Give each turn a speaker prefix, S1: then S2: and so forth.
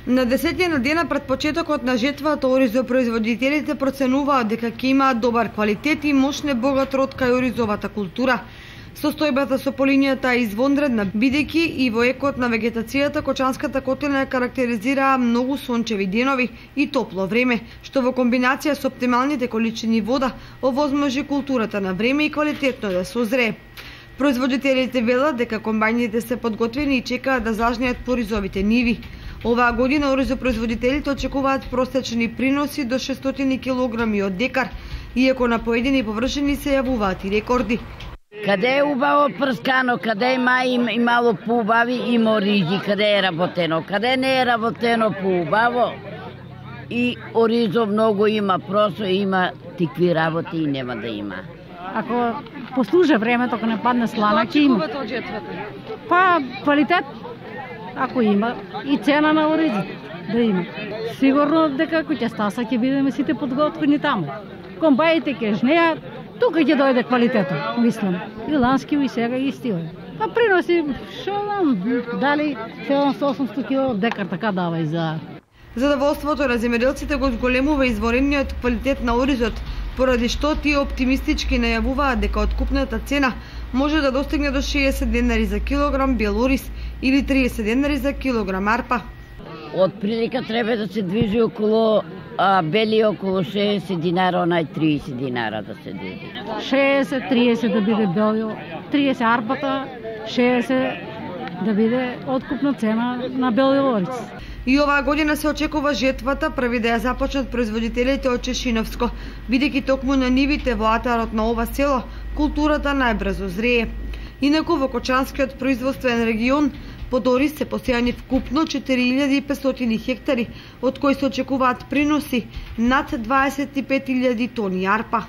S1: На 10 дена пред почетокот на жетвата, оризопроизводителите проценуваат дека ќе имаат добар квалитет и мощне богат род кај оризовата култура. Состојбата со полињата е извонредна, бидејќи и во екот на вегетацијата Кочанската котлина ја карактеризираа многу сончеви денови и топло време, што во комбинација со оптималните количини вода овозможи културата на време и квалитетно да созрее. Производителите велат дека комбајните се подготвени и чекаат да зажнеат по оризовите ниви. Оваа година оризопроизводителите очекуваат просечни приноси до 600 килограми од декар, иако на поедини површини се јавуваат и рекорди.
S2: Каде е убаво прскано, каде има мало поубави, има оризи, каде е работено, каде не е работено поубаво и оризо многу има, просто има тикви работи и нема да има.
S3: Ако послужа времето, ако не падне слана, ќе има. Па квалитет, ако има, и цена на оризите да има. Сигурно дека ќе стаса ќе бидеме сите подготвени таму. Комбаите ќе жнеат, тука ќе дојде квалитетот, мислам. И лански и сега и стиле. А приноси, шо знам, дали 700-800 кило декар така дава и за...
S1: Задоволството на земјоделците го зголемува изворениот квалитет на оризот, поради што тие оптимистички најавуваат дека откупната цена може да достигне до 60 денари за килограм бел ориз или 30 денари за килограм арпа.
S2: Од прилика треба да се движи околу бели околу 60 динара, онај 30 динара да се движи.
S3: 60-30 да биде белио, 30 арпата, 60 да биде откупна цена на белио ориз.
S1: И оваа година се очекува жетвата први да ја започнат производителите од Чешиновско, бидејќи токму на нивите во атарот на ова село културата најбрзо зрее. Инаку во Кочанскиот производствен регион под ориз се посејани вкупно 4500 хектари, од кои се очекуваат приноси над 25.000 тони арпа.